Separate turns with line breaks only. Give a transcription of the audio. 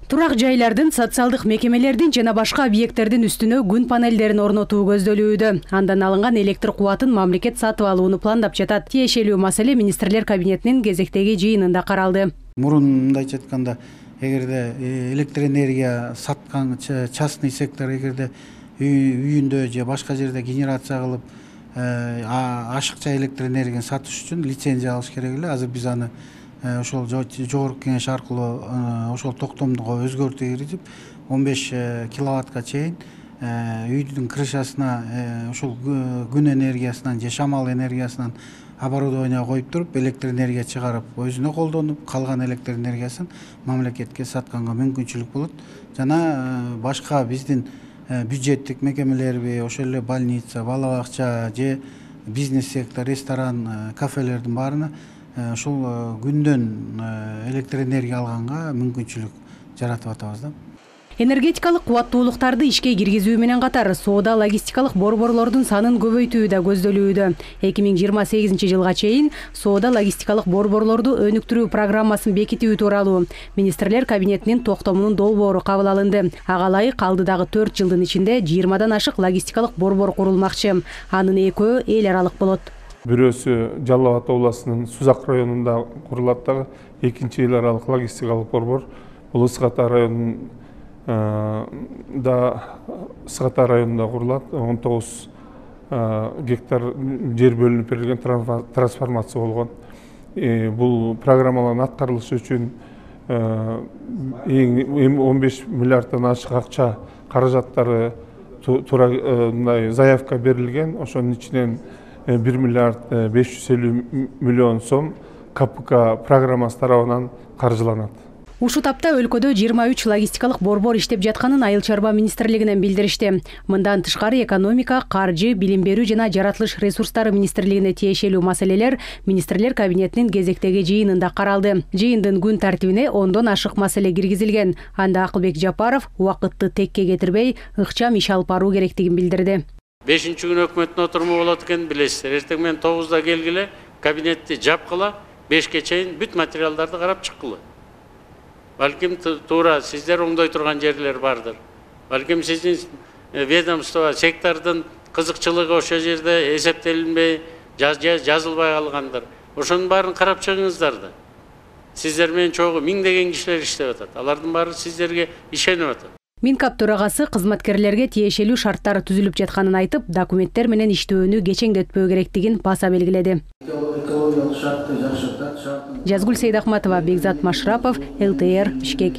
Турак жайлардын, социалдык мекемелердин жана башка объекттердин үстүнө күн панелдерин орнотуу көздөлүүдө. Андан алынган электр кубатын мамлекет сатып алууну пландап жатат. Тиешелүү маселе министрлер кабинетинин кезектеги жыйынында каралды.
Мурун мындайча айтканда, эгерде электр энергия саткан частный сектор эгерде үйүндө же башка жерде генерация кылып ашыкча электр энергияны сатыш үчүн лицензия алыш керек эле. Азыр биз аны ошол жогорку кеңеш аркылуу ошол токтомго өзгөртүү киргизип 15 киловаттка чейин үйдүн крышасына ошол күн энергиясынан же шамал энергиясынан оборудование коюп туруп электр энергия чыгарып өзүнө колдонуп, калган электр энергиясын мамлекетке сатканга мүмкүнчүлүк болот. Жана башка биздин бюджеттик мекемелерби, ошол эле больница, бала бакча же бизнес сектор, ресторан, кафелердин баарына ушул күндөн электр энергия алганга мүмкүнчүлүк жаратып атабыз да.
Энергетикалык кубаттуулуктарды ишке киргизүү менен катар соода логистикалык борборлордун санын көбөйтүү да көздөлүүдө. 2028 жылга чейин соода логистикалык борборлорду өнүктүрүү программасын бекитүү тууралуу министрлер кабинетинин токтомунун долбоору кабыл алынды. Ага ылайык алдыдагы 4 жылдын ичинде 20дан ашык логистикалык борбор курулмакчы. Анын экөө эл аралык болот.
Бирөөсү Жалал Абад областынын Сузак районунда курулат дагы, экинчи эл аралык логистикалык борбор бул Ысык Ата районунун Сыгата районунда курулат. 19 гектар жер бөлүнүп берилген, трансформация болгон. Бул программалардын аткарылышы үчүн 15 миллиарддан ашык акча каражаттары туура заявка берилген. Ошонун ичинен 1 миллиард 550 миллион сом КПК программасы тарабынан каржыланат.
Ушул тапта өлкөдө 23 логистикалык борбор иштеп жатканын Айыл чарба министрлигинен билдиришти. Мындан тышкары экономика, каржы, билим берүү жана жаратылыш ресурстары министрлигине тиешелүү маселелер министрлер кабинетинин кезектеги жыйынында каралды. Жыйындын күн тартибине 10дон ашык маселе киргизилген. Анда Акылбек Жапаров убакытты текке кетирбей, ыкчам иш алып баруу керектигин билдирди.
5-күн өкмөттүн отуруму болот экен, билесиздер. Эртең менен 9да келгиле, кабинетти жапкыла, 5ке чейин бүт материалдарды карап чыккыла. Балким туура сиздер оңдой турган жерлер бардыр. Балким сиздин ведомство, сектордун кызыкчылыгы ошол жерде эсептелинбей, жазылбай калгандыр. Ошонун баарын карап чыгыңыздар да. Сиздер менен чогуу миңдеген кишилер иштеп атат. Алардын баары сиздерге ишенип атат.
Минкап төрагасы кызматкерлерге тиешелүү шарттар түзүлүп жатканын айтып, документтер менен иштөөнү кечеңдетпөө керектигин баса белгиледи. Жазгүл Сейдахматова, Бекзат Машрапов, ЛТР, Бишкек.